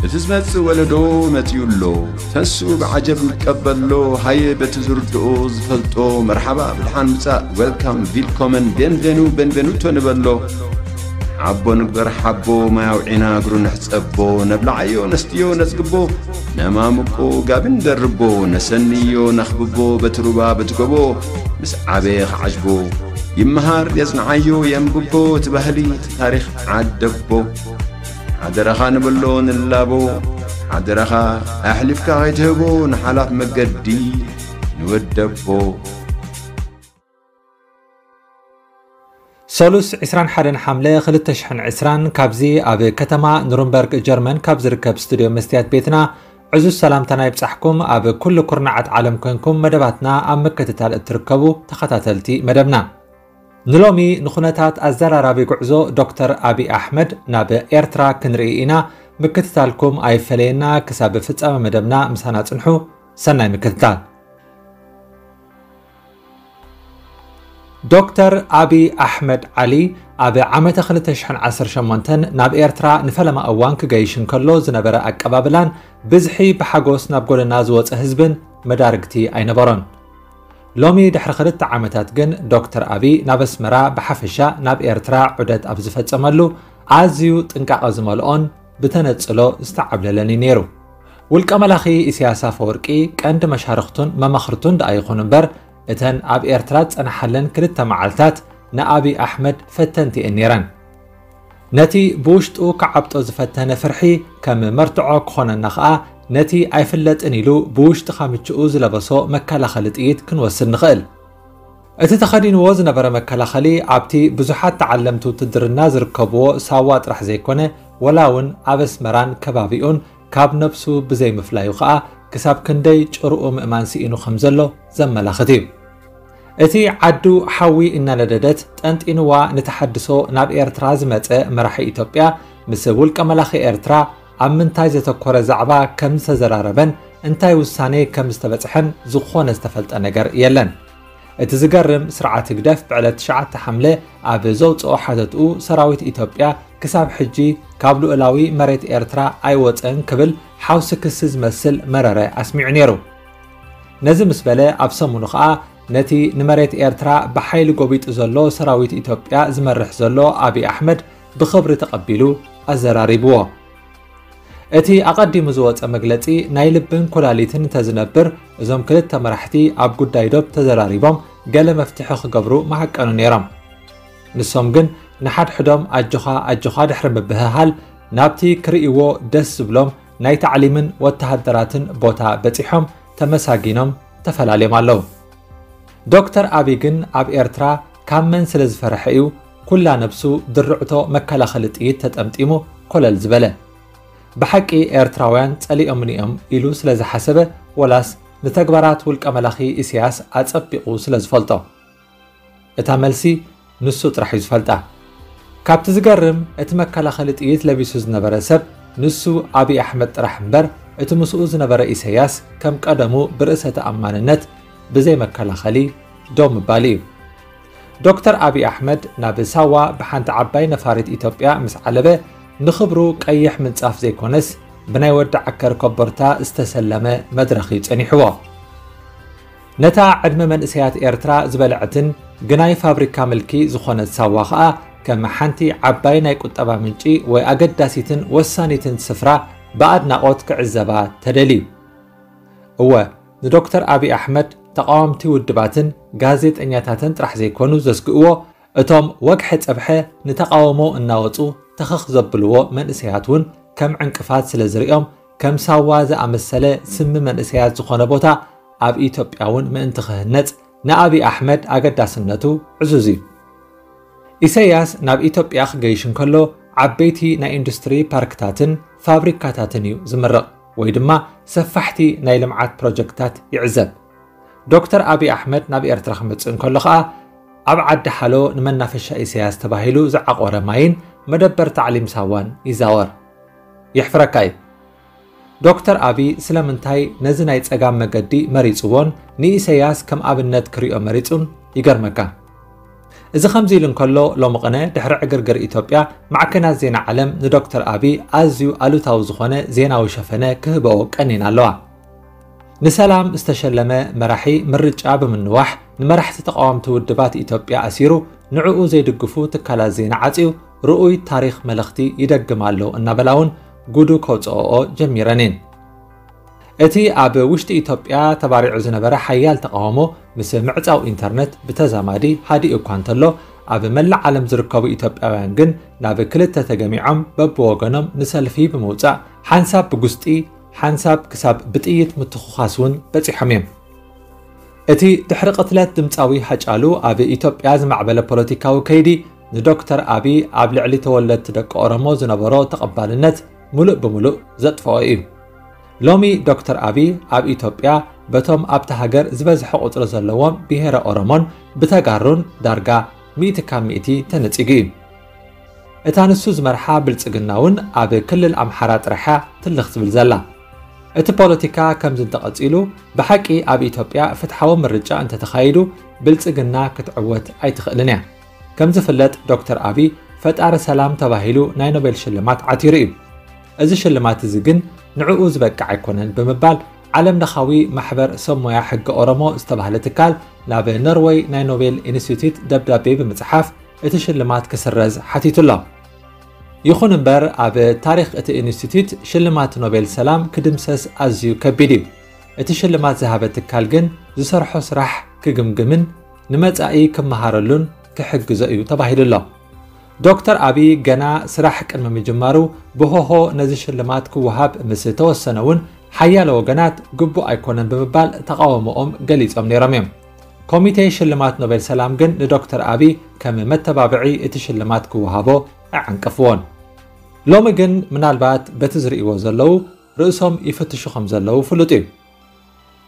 እቲ ዝመጽእ ወለዶ መጺኡ ኣሎ። ተንስኡ ብዓጀብ ንቀበሎ። ሃየ በቲ ዝርድኦ ዝፈልጦ መርሓባ ብድሓን ምጻእ፣ ዌልካም፣ ቪልኮመን፣ ቤንቬኑ፣ ቤንቬኑቶ ንበሎ። ሓቦ ንግበር ሓቦ፣ ማይ ኣውዒና እግሩ ንሕጸቦ። ነብልዓዮ ነስትዮ ነጽግቦ፣ ነማምቆ ጋቢ ንደርቦ። ነሰንዮ ነኽብቦ በቲ ሩባ በቲ ጎቦ። ምስ ዓበየ ክዓጅቦ ይመሃር የጽንዓዮ የንብቦ። እቲ ባህሊ እቲ ታሪኽ ዓደቦ። ሓደራኻ ንብሎ ንላቦ። ሓደራኻ ኣሕሊፍካ ከይትህቦ ንሓላፍ መገዲ ንወደቦ። ሰሉስ ዕስራን ሓደን ሓምለ ክልተ ሽሕን ዕስራን ካብዚ ኣብ ከተማ ኑርንበርግ ጀርመን ካብ ዝርከብ ስቱድዮ መስትያት ቤትና ዕዙዝ ሰላምታና ይብጻሕኩም። ኣብ ኩሉ ኩርናዓት ዓለም ኮንኩም መደባትና ኣብ ምክትታል እትርከቡ ተኸታተልቲ መደብና፣ ንሎሚ ንኹነታት ኣዘራራቢ ጉዕዞ ዶክተር ኣቢይ ኣሕመድ ናብ ኤርትራ ክንርኢ ኢና። ምክትታልኩም ኣይፈለየና። ክሳብ ፍጻመ መደብና ምሳና ጽንሑ። ሰናይ ምክትታል። ዶክተር ኣቢይ ኣሕመድ ዓሊ ኣብ ዓመተ ክልተ ሽሕን ዓሰርተ ሸሞንተን ናብ ኤርትራ ንፈለማ እዋን ክገይሽ እንከሎ ዝነበረ ኣቀባብላን ብዝሒ ብሓጎስ ናብ ጎደና ዝወጸ ህዝብን መዳርግቲ ኣይነበሮን። ሎሚ ድሕሪ ክልተ ዓመታት ግን ዶክተር ኣቢይ ናብ ኣስመራ ብሓፈሻ ናብ ኤርትራ ዑደት ኣብ ዝፈጸመሉ ኣዝዩ ጥንቃቐ ዝመልኦን ብተነጽሎ ዝተዓብለለን እዩ ነይሩ። ውልቀ መላኺ ኢሳያስ ኣፈወርቂ ቀንዲ መሻርኽቱን መማኽርቱን ደኣ ይኹኑ እምበር፣ እተን ኣብ ኤርትራ ዝጸንሓለን ክልተ መዓልታት ንኣቢይ ኣሕመድ ፈተንቲ እየን ነይረን። ነቲ ብውሽጡ ክዓብጦ ዝፈተነ ፍርሒ ከም መርትዖ ክኾነና ኸኣ፣ ነቲ ኣይፍለጥን ኢሉ ብውሽጢ ካምችኡ ዝለበሶ መከላኸሊ ጥይት ክንወስድ ንኽእል። እቲ ተኸዲንዎ ዝነበረ መከላኸሊ ኣብቲ ብዙሓት ተዓለምቲ ውትድርና ዝርከብዎ ሳዋ ጥራሕ ዘይኮነ፣ ወላ እውን ኣብ ኣስመራን ከባቢኡን ካብ ነብሱ ብዘይምፍላዩ ኸኣ ክሳብ ክንደይ ጭርኡ ምእማን ስኢኑ ከም ዘሎ ዘመላኽት እዩ። እቲ ዓዱ ሓዊ እናነደደት ጠንጢንዋ ንተሓድሶ ናብ ኤርትራ ዝመጸ መራሒ ኢትዮጵያ ምስ ውልቀ መላኺ ኤርትራ ኣብ ምንታይ ዘተኮረ ዛዕባ ከም ዝተዘራረበን እንታይ ውሳኔ ከም ዝተበጽሐን ዝኾነ ዝተፈልጠ ነገር የለን። እቲ ዝገርም ስርዓት ህግደፍ ብዕለት ትሽዓተ ሓምለ ኣብ ዘውጽኦ ሓተትኡ ሰራዊት ኢትዮጵያ ክሳብ ሕጂ ካብ ልኡላዊ መሬት ኤርትራ ኣይወጸን ክብል ሓውሲ ክሲ ዝመስል መረረ ኣስሚዑ ነይሩ። ነዚ ምስ በለ ኣብ ሰሙኑ ኸኣ ነቲ ንመሬት ኤርትራ ብሓይሊ ጎቢጡ ዘሎ ሰራዊት ኢትዮጵያ ዝመርሕ ዘሎ ኣቢይ ኣሕመድ ብኽብሪ ተቐቢሉ ኣዘራሪብዎ። እቲ ኣቐዲሙ ዝወጸ መግለጺ ናይ ልብን ኩላሊትን እንተዝነብር እዞም ክልተ መራሕቲ ኣብ ጉዳይ ዶብ ተዘራሪቦም ገለ መፍትሒ ክገብሩ ምሃቀኑ ነይሮም። ንሶም ግን ንሓድሕዶም ኣጆኻ ኣጆኻ ድሕሪ ምብህሃል ናብቲ ክርእይዎ ደስ ዝብሎም ናይ ታዕሊምን ወተሃደራትን ቦታ በጺሖም ተመሳጊኖም ተፈላልዮም ኣለዉ። ዶክተር ኣቢይ ግን ኣብ ኤርትራ ካብ መን ስለ ዝፈርሐ እዩ ኩላ ነብሱ ድርዕቶ መከላኸሊ ጥይት ተጠምጢሙ ኮለል ዝበለ? ብሓቂ ኤርትራውያን ጸሊኦምኒ እዮም ኢሉ ስለ ዝሓሰበ ወላስ ንተግባራት ውልቀ መላኺ ኢሳያስ ኣጸቢቑ ስለ ዝፈልጦ? እታ መልሲ ንሱ ጥራሕ እዩ ዝፈልጣ። ካብቲ ዝገርም እቲ መከላኸሊ ጥይት ለቢሱ ዝነበረ ሰብ ንሱ ኣቢይ ኣሕመድ ጥራሕ እምበር እቲ ምስኡ ዝነበረ ኢሳያስ ከም ቀደሙ ብርእሰ ተኣማንነት ብዘይ መከላኸሊ ደው ምባል እዩ። ዶክተር ኣቢይ ኣሕመድ ናብ ሳዋ ብሓንቲ ዓባይ ነፋሪት ኢትዮጵያ ምስ ዓለበ ንኽብሩ ቀይሕ ምንጻፍ ዘይኮነስ ብናይ ወዲ ዓከር ኮቦርታ ዝተሰለመ መድረኽ እዩ ጸኒሕዎ። ነታ ዕድመ መንእሰያት ኤርትራ ዝበልዐትን ግናይ ፋብሪካ ምልኪ ዝኾነት ሳዋ ኸኣ ከም ሓንቲ ዓባይ ናይ ቁጠባ ምንጪ ወይ ኣገዳሲትን ወሳኒትን ስፍራ ብኣድናቖት ክዕዘባ ተደልዩ። እወ፣ ንዶክተር ኣቢይ ኣሕመድ ተቓወምቲ ውድባትን ጋዜጠኛታትን ጥራሕ ዘይኮኑ ዘስግእዎ፣ እቶም ወግሐ ጸብሐ ንተቓውሞ እናወጹ ተኸኽ ዘብልዎ መንእሰያት እውን ከም ዕንቅፋት ስለ ዝርእዮም፣ ከም ሳዋ ዝኣመሰለ ስሚ መንእሰያት ዝኾነ ቦታ ኣብ ኢትዮጵያ እውን ምእንቲ ክህነጽ ንኣቢይ ኣሕመድ ኣገዳስነቱ ዕዙዝ እዩ። ኢሳያስ ናብ ኢትዮጵያ ክገይሽ እንከሎ ዓበይቲ ናይ ኢንዱስትሪ ፓርክታትን ፋብሪካታትን እዩ ዝምርቕ ወይ ድማ ሰፋሕቲ ናይ ልምዓት ፕሮጀክትታት ይዕዘብ። ዶክተር ኣቢይ ኣሕመድ ናብ ኤርትራ ክመጽእ እንከሎ ኸኣ ኣብ ዓዲ ሓሎ ንመናፈሻ ኢሳያስ ተባሂሉ ዝዓቖረ ማይን መደበር ታዕሊም ሳዋን ይዛወር። የሕፍረካ እዩ። ዶክተር ኣቢይ ስለምንታይ ነዚ ናይ ጸጋም መገዲ መሪጽዎን ንኢሳያስ ከም ኣብነት ክሪኦ መሪጹን ይገርመካ። እዚ ከምዚ ኢሉ እንከሎ፣ ሎሚ ቅነ ድሕሪ ዕግርግር ኢትዮጵያ፣ ማዕከናት ዜና ዓለም ንዶክተር ኣቢ ኣዝዩ ኣሉታዊ ዝኾነ ዜናዊ ሸፈነ ክህበኦ ቀኒና ኣለዋ። ንሰላም ዝተሸለመ መራሒ ምርጫ ብምንዋሕ፣ ንመራሕቲ ተቓወምቲ ውድባት ኢትዮጵያ ኣሲሩ፣ ንዕኡ ዘይድግፉ ትካላት ዜና ዓጽዩ፣ ርኡይ ታሪኽ መለኽቲ ይደግም ኣሎ እናበላ እውን ጉዱ ከውፅኦኦ ጀሚረን እየን። እቲ ኣብ ውሽጢ ኢትዮጵያ ተባሪዑ ዝነበረ ሓያል ተቓውሞ ምስ ምዕጻው ኢንተርነት ብተዛማዲ ሃዲኡ እኳ እንተሎ፣ ኣብ መላእ ዓለም ዝርከቡ ኢትዮጵያውያን ግን ናብ ክልተ ተገሚዖም በብወገኖም ንሰልፊ ብምውጻእ ሓንሳብ ብጉስጢ ሓንሳብ ክሳብ ብጥይት ምትኹኻስ እውን በጺሖም እዮም። እቲ ድሕሪ ቅትለት ድምጻዊ ሃጫሉ ኣብ ኢትዮጵያ ዝማዕበለ ፖለቲካዊ ከይዲ ንዶክተር ኣቢ ኣብ ልዕሊ ተወለድቲ ደቂ ኦሮሞ ዝነበሮ ተቐባልነት ሙሉእ ብሙሉእ ዘጥፍኦ እዩ። ሎሚ ዶክተር ኣቢ ኣብ ኢትዮጵያ በቶም ኣብታ ሃገር ዝበዝሐ ቁጽሪ ዘለዎም ብሄረ ኦሮሞን ብተጋሩን ዳርጋ ሚእቲ ካብ ሚእቲ ተነጺጉ እዩ። እታ ንሱ ዝመርሓ ብልጽግና እውን ኣብ ክልል ኣምሓራ ጥራሕ እያ ትልኽ ትብል ዘላ። እቲ ፖለቲካ ከምዚ እንተቐጺሉ፣ ብሓቂ ኣብ ኢትዮጵያ ፍትሓዊ ምርጫ እንተተኻይዱ፣ ብልጽግና ክትዕወት ኣይትኽእልን እያ። ከም ዝፍለጥ፣ ዶክተር ኣቢ ፈጣሪ ሰላም ተባሂሉ ናይ ኖቤል ሽልማት ዓቲሩ እዩ። እዚ ሽልማት እዚ ግን ንዕኡ ዝበቅዕ ኣይኮነን ብምባል፣ ዓለም ለኻዊ ማሕበር ሰብ ሞያ ሕጊ ኦሮሞ ዝተባህለ ትካል ናብ ኖርወይ ናይ ኖቤል ኢንስቲትዩት ደብዳቤ ብምጽሓፍ፣ እቲ ሽልማት ክስረዝ ሓቲቱ ኣሎ። ይኹን እምበር፣ ኣብ ታሪኽ እቲ ኢንስቲትዩት ሽልማት ኖቤል ሰላም ክድምሰስ ኣዝዩ ከቢድ እዩ። እቲ ሽልማት ዝሃበ ትካል ግን ዝሰርሖ ስራሕ ክግምግምን ንመጻኢ ክመሃረሉን ክሕግዞ እዩ ተባሂሉ ኣሎ። ዶክተር ኣቢ ገና ስራሕ ቅድሚ ምጅማሩ ብሆሆ ነዚ ሽልማት ክወሃብ ምስ ተወሰነ እውን ሓያለ ወገናት ግቡእ ኣይኮነን ብምባል ተቓውሞኦም ገሊጾም ነይሮም እዮም። ኮሚቴ ሽልማት ኖቤል ሰላም ግን ንዶክተር ኣቢ ከም መተባብዒ እቲ ሽልማት ክወሃቦ ኣዓንቀፍዎን። ሎሚ ግን ምናልባት በቲ ዝርእይዎ ዘለዉ ርእሶም ይፍትሹ ከም ዘለዉ ፍሉጥ እዩ።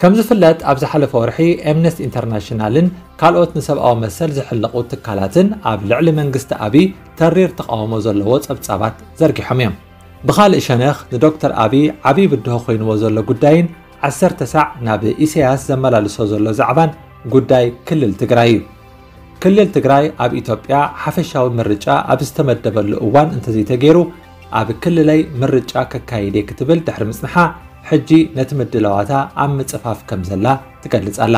ከም ዝፍለጥ፣ ኣብ ዝሓለፈ ወርሒ ኤምነስቲ ኢንተርናሽናልን ካልኦት ንሰብኣዊ መሰል ዝሕለቑ ትካላትን ኣብ ልዕሊ መንግስቲ ኣቢ ተሪር ተቓውሞ ዘለዎ ጸብጻባት ዘርጊሖም እዮም። ብኻልእ ሸነኽ፣ ንዶክተር ኣቢ ዓብዪ ብድሆ ኮይንዎ ዘሎ ጉዳይን ዓሰርተ ሳዕ ናብ ኢሳያስ ዘመላልሶ ዘሎ ዛዕባን ጉዳይ ክልል ትግራይ እዩ። ክልል ትግራይ ኣብ ኢትዮጵያ ሓፈሻዊ ምርጫ ኣብ ዝተመደበሉ እዋን እንተዘይተገይሩ፣ ኣብ ክልለይ ምርጫ ከካይድ እየ ክትብል ድሕሪ ምጽንሓ፣ ሕጂ ነቲ ምድላዋታ ኣብ ምጽፋፍ ከም ዘላ ትገልጽ ኣላ።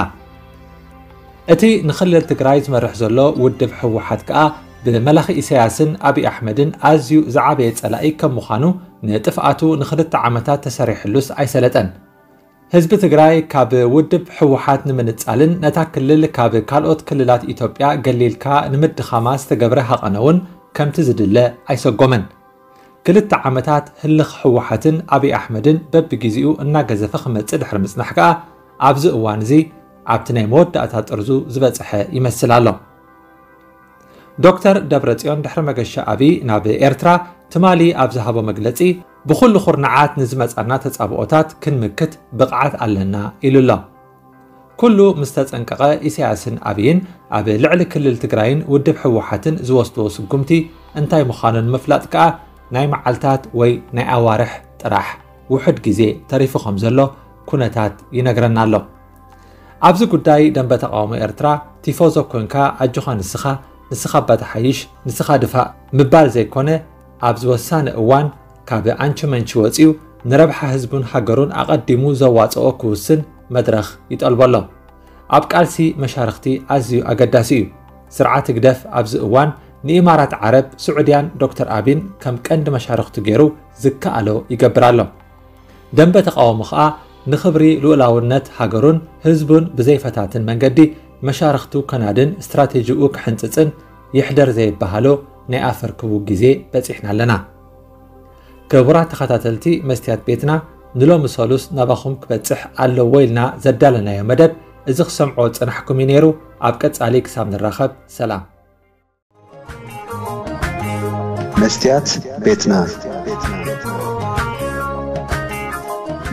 እቲ ንክልል ትግራይ ዝመርሕ ዘሎ ውድብ ህወሓት ከኣ ብመላኺ ኢሳያስን ኣቢይ ኣሕመድን ኣዝዩ ዝዓበየ ጸላኢ ከም ምዃኑ፣ ንጥፍኣቱ ንኽልተ ዓመታት ተሰሪሕሉስ ኣይሰለጠን። ህዝቢ ትግራይ ካብ ውድብ ህወሓት ንምንጻልን ነታ ክልል ካብ ካልኦት ክልላት ኢትዮጵያ ገሊልካ ንምድኻማ ዝተገብረ ሃቐነ እውን ከምቲ ዝድለ ኣይሰጎመን። ክልተ ዓመታት ህልኽ ህወሓትን ኣቢይ ኣሕመድን በብግዜኡ እናገዘፈ ክመጽእ ድሕሪ ምጽናሕ ከኣ፣ ኣብዚ እዋን እዚ ኣብቲ ናይ መወዳእታ ጥርዙ ዝበጽሐ ይመስል ኣሎ። ዶክተር ደብረጽዮን ድሕሪ መገሻ ኣቢይ ናብ ኤርትራ ትማሊ ኣብ ዝሃቦ መግለጺ፣ ብኹሉ ኩርናዓት ንዝመጻና ተጻብኦታት ክንምክት ብቕዓት ኣለና ኢሉ ኣሎ። ኩሉ ምስ ተጸንቀቐ፣ ኢሳያስን ኣቢይን ኣብ ልዕሊ ክልል ትግራይን ውድብ ህወሓትን ዝወስድዎ ስጉምቲ እንታይ ምዃኑ ንምፍላጥ ከኣ ናይ መዓልታት ወይ ናይ ኣዋርሕ ጥራሕ ውሑድ ግዜ ተሪፉ ከም ዘሎ ኩነታት ይነግረና ኣሎ። ኣብዚ ጉዳይ ደንበ ተቓውሞ ኤርትራ ቲፎዞ ኮንካ ኣጆኻ ንስኻ፣ ንስኻ እባ ተሓይሽ፣ ንስኻ ድፋእ ምባል ዘይኮነ፣ ኣብዚ ወሳኒ እዋን ካብ ኣንቺ መንቺ ወጺኡ ንረብሓ ህዝቡን ሃገሩን ኣቐዲሙ ዘዋጽኦ ክውስን መድረኽ ይጠልቦ ኣሎ። ኣብ ቃልሲ መሻርኽቲ ኣዝዩ ኣገዳሲ እዩ። ስርዓት ህግደፍ ኣብዚ እዋን ንኢማራት ዓረብ፣ ስዑድያን ዶክተር ኣቢን ከም ቀንዲ መሻርኽቱ ገይሩ ዝከኣሎ ይገብር ኣሎ። ደንበ ተቓውሞ ኸኣ ንኽብሪ ልኡላውነት ሃገሩን ህዝቡን ብዘይፈታትን መንገዲ መሻርኽቱ ከናድን ስትራቴጂኡ ክሕንጽጽን ይሕደር ዘይበሃሎ ናይ ኣፈርክቡ ግዜ በጺሕና ኣለና። ክቡራት ተኸታተልቲ መስትያት ቤትና፣ ንሎሚ ሰሉስ ናባኹም ክበጽሕ ኣለዎ ኢልና ዘዳለናዮ መደብ እዚ ክሰምዖ ዝጸናሕኩም እዩ ነይሩ። ኣብ ቀጻሊ ክሳብ ንራኸብ፣ ሰላም። መስትያት ቤትና።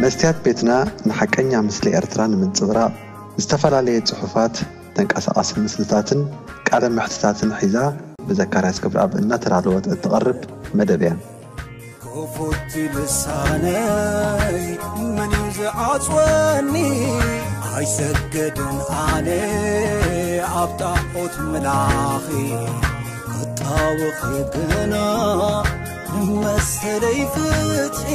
መስትያት ቤትና ንሓቀኛ ምስሊ ኤርትራ ንምንጽብራቕ ዝተፈላለየ ጽሑፋት፣ ተንቀሳቓሲ ምስልታትን ቃለ መሕትታትን ሒዛ ብዘካርያስ ገብረኣብ እናተዳለወት እትቐርብ መደብ እያ። ክፉት ልሳነይ መን እዩ ዝዓጽወኒ? ኣይሰገድን ኣነ ኣብ ጣዖት ምላኺ፣ ክጣወኺ ግና መሰለይ ፍትሒ።